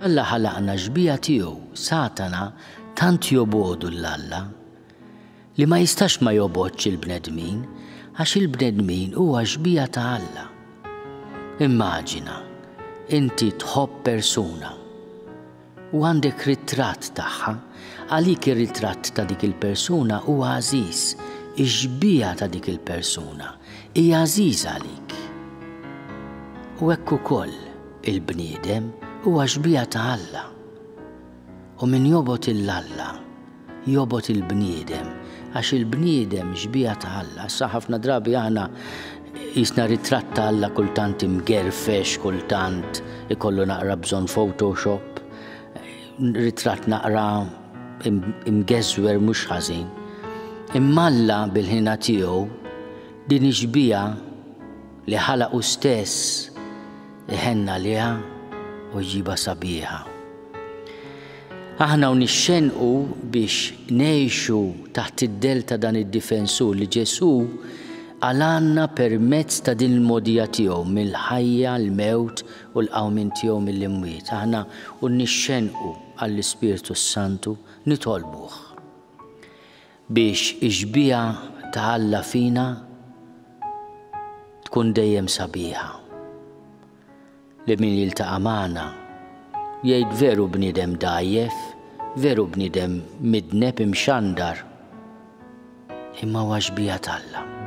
Alla ħalaqna xbieha tiegħu, Satana tant jobogħdu 'l Alla li ma jistax ma jobgħodx il-bnedmin għax il-bnedmin huwa xbieha ta' Alla. Immaġina, inti tħobb persuna u għandek ritratt tagħha, għalik ir-ritratt ta' dik il-persuna huwa għażiż, ix-xbieha ta' dik il-persuna hija għażiża għalik. U hekk ukoll il-bniedem huwa xbieha ta' Alla. U min jobgħod 'il Alla, jobgħod il-bniedem, għax il-bniedem xbieha ta' Alla. Issa ħafna drabi aħna jisna ritratt ta' Alla kultant imgerfex, kultant ikollu naqra bżonn Photoshop, ritratt naqra imgeżwer mhux ħażin. Imma Alla bil-ħina tiegħu din ix-xbieha li ħalaq hu stess iħenn għaliha u jġibha sabiħa. Aħna u nixxennqu biex ngħixu taħt id-dell ta' dan id-difensur li Ġesù qalgħalna permezz ta' din il-mogħdija tiegħu mill-ħajja, l-mewt u l-qawmien tiegħu mill-imwiet. Aħna u nixxennqu għall-Ispirtu s-Santu nitolbuh biex ix-xbieha ta' Alla fina tkun dejjem sabiħa. Li min jiltaqa' magħna jgħid veru bniedem dgħajjef, veru bniedem midneb imxandar, imma huwa xbieha t'Alla.